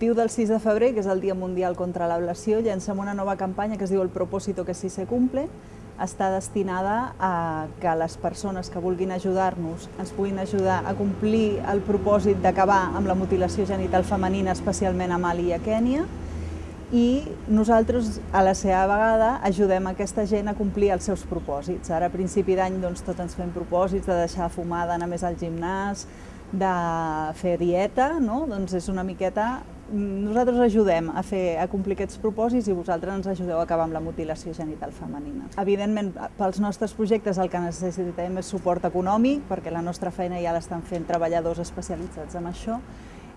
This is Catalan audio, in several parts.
motiu del 6 de febrer, que és el Dia Mundial contra l'Ablació, llancem una nova campanya que es diu El propósito que sí se cumple. Està destinada a que les persones que vulguin ajudar-nos ens puguin ajudar a complir el propòsit d'acabar amb la mutilació genital femenina, especialment a Mali i a Kènia, i nosaltres, a la seva vegada, ajudem aquesta gent a complir els seus propòsits. Ara, a principi d'any, tots ens fem propòsits de deixar de fumar, d'anar més al gimnàs, de fer dieta, no? Doncs és una miqueta... Nosaltres ajudem a complir aquests propòsits i vosaltres ens ajudeu a acabar amb la mutilació genital femenina. Evidentment, pels nostres projectes el que necessitem és suport econòmic, perquè la nostra feina ja l'estan fent treballadors especialitzats en això,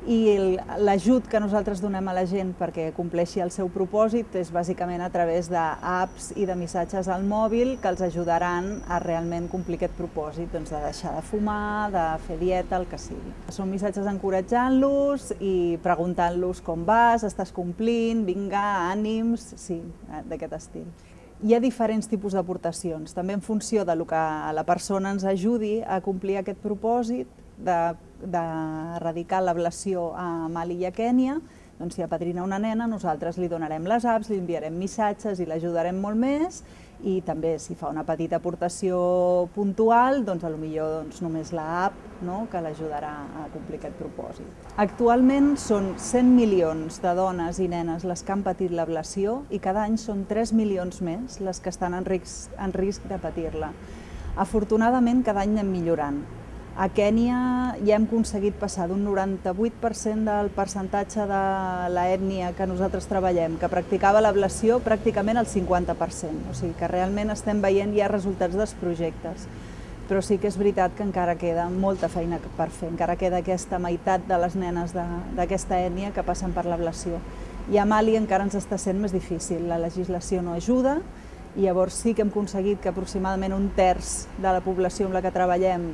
i l'ajut que nosaltres donem a la gent perquè compleixi el seu propòsit és bàsicament a través d'apps i de missatges al mòbil que els ajudaran a realment complir aquest propòsit, de deixar de fumar, de fer dieta, el que sigui. Són missatges encoratjant-los i preguntant-los com vas, estàs complint, vinga, ànims, sí, d'aquest estil. Hi ha diferents tipus d'aportacions, també en funció del que la persona ens ajudi a complir aquest propòsit d'erradicar l'ablació a Mali i a Kènia. Doncs si apadrina una nena, nosaltres li donarem les apps, li enviarem missatges i l'ajudarem molt més, i també si fa una petita aportació puntual, doncs potser només l'app que l'ajudarà a complir aquest propòsit. Actualment són 100 milions de dones i nenes les que han patit l'ablació i cada any són 3 milions més les que estan en risc de patir-la. Afortunadament, cada any anem millorant. A Kènia ja hem aconseguit passar d'un 98% del percentatge de l'ètnia que nosaltres treballem, que practicava l'ablació, pràcticament al 50%. O sigui que realment estem veient ja resultats dels projectes. Però sí que és veritat que encara queda molta feina per fer, encara queda aquesta meitat de les nenes d'aquesta ètnia que passen per l'ablació. I a Mali encara ens està sent més difícil, la legislació no ajuda, i llavors sí que hem aconseguit que aproximadament un terç de la població amb la que treballem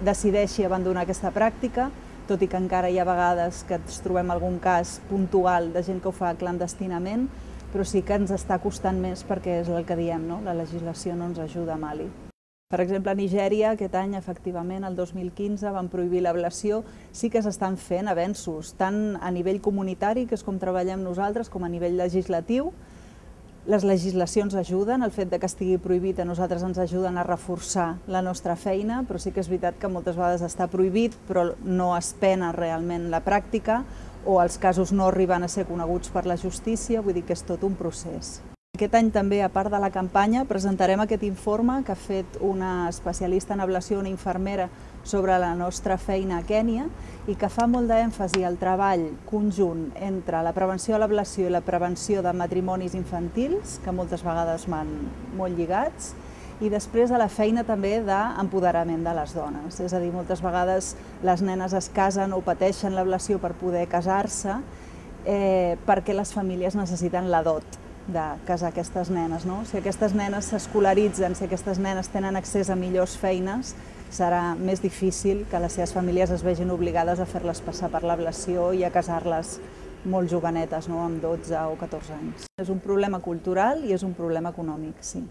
decideixi abandonar aquesta pràctica, tot i que encara hi ha vegades que ens trobem algun cas puntual de gent que ho fa clandestinament, però sí que ens està costant més perquè és el que diem, la legislació no ens ajuda a Mali. Per exemple, a Nigèria, aquest any, efectivament, el 2015, van prohibir l'ablació. Sí que s'estan fent avenços, tant a nivell comunitari, que és com treballem nosaltres, com a nivell legislatiu. Les legislacions ajuden, el fet que estigui prohibit a nosaltres ens ajuden a reforçar la nostra feina, però sí que és veritat que moltes vegades està prohibit, però no es pena realment la pràctica, o els casos no arriben a ser coneguts per la justícia, vull dir que és tot un procés. Aquest any també, a part de la campanya, presentarem aquest informe que ha fet una especialista en ablació, una infermera, sobre la nostra feina a Kènia i que fa molt d'èmfasi al treball conjunt entre la prevenció de l'ablació i la prevenció de matrimonis infantils, que moltes vegades van molt lligats, i després a la feina també d'empoderament de les dones. És a dir, moltes vegades les nenes es casen o pateixen l'ablació per poder casar-se perquè les famílies necessiten la dot de casar aquestes nenes. Si aquestes nenes s'escolaritzen, si aquestes nenes tenen accés a millors feines, serà més difícil que les seves famílies es vegin obligades a fer-les passar per l'ablació i a casar-les molt jovenetes, amb 12 o 14 anys. És un problema cultural i és un problema econòmic, sí.